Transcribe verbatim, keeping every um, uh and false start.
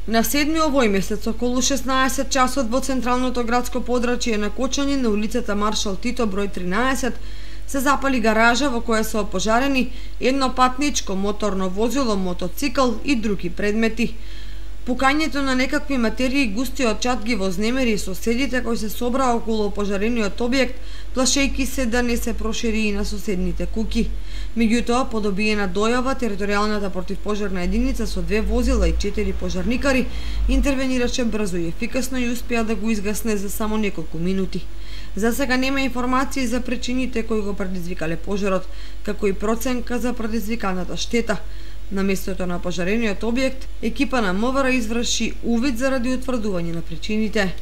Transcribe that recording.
На седми овој месец, околу шеснаесет часот во централното градско подрачје на Кочани, на улицата Маршал Тито број тринаесет, се запали гаража во која се опожарени едно патничко моторно возило, мотоцикл и други предмети. Пукањето на некакви материи густиот чад ги вознемери соседите кои се собраа околу опожарениот објект, плашејќи се да не се прошири и на соседните куќи. Меѓутоа, по добиена дојава, територијалната противпожарна единица со две возила и четири пожарникари интервенираше брзо и ефикасно и успеа да го изгасне за само неколку минути. За сега нема информации за причините кои го предизвикале пожарот, како и проценка за предизвиканата штета. На местото на пожарениот објект, екипа на МВР изврши увид заради утврдување на причините.